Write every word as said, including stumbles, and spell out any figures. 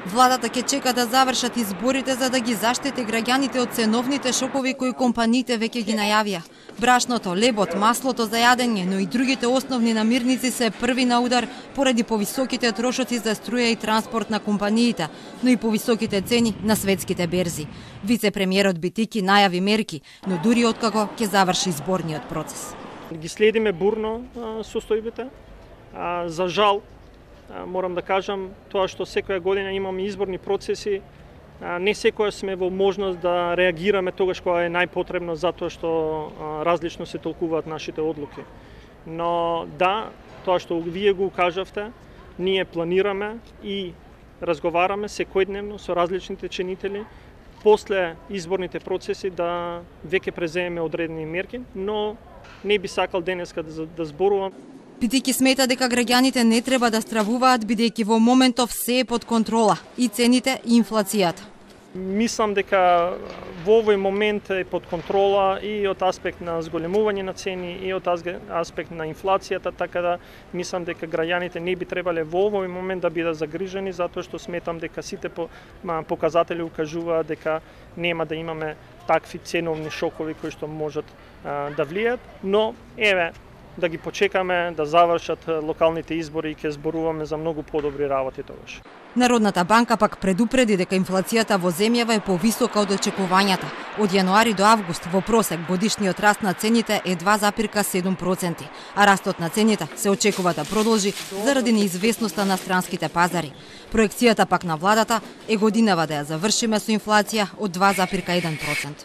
Владата ќе чека да завршат изборите за да ги заштити граѓаните од ценовните шокови кои компаниите веќе ги најавија. Брашното, лебот, маслото за јадење, но и другите основни намирници се први на удар поради повисоките трошоци за струја и транспорт на компаниите, но и повисоките цени на светските берзи. Вице-премиерот Битики најави мерки, но дури откако ќе заврши изборниот процес. Ги следиме бурно состојбите. За жал, морам да кажам, тоа што секоја година имаме изборни процеси, не секоја сме во можност да реагираме тогаш кога е најпотребно, затоа што различно се толкуваат нашите одлуки. Но да, тоа што вие го кажавте, ние планираме и разговараме секојдневно со различните чинители, после изборните процеси да веќе преземеме одредени мерки, но не би сакал денеска да, да зборувам. Битики смета дека граѓаните не треба да стравуваат бидејќи во моментов се е под контрола и цените и инфлацијата. Мислам дека во овој момент е под контрола и од аспект на зголемување на цени и од аспект на инфлацијата, така да мислам дека граѓаните не би требале во овој момент да бидат загрижени, затоа што сметам дека сите показатели укажуваат дека нема да имаме такви ценовни шокови кои што можат да влијат, но еве да ги почекаме да завршат локалните избори и ќе зборуваме за многу подобри работи тогаш. Народната банка пак предупреди дека инфлацијата во земјава е повисока од очекувањата. Од јануари до август во просек годишниот раст на цените е два запирка седум проценти, а растот на цените се очекува да продолжи заради неизвестноста на странските пазари. Проекцијата пак на владата е годинава да ја завршиме со инфлација од два запирка еден процент.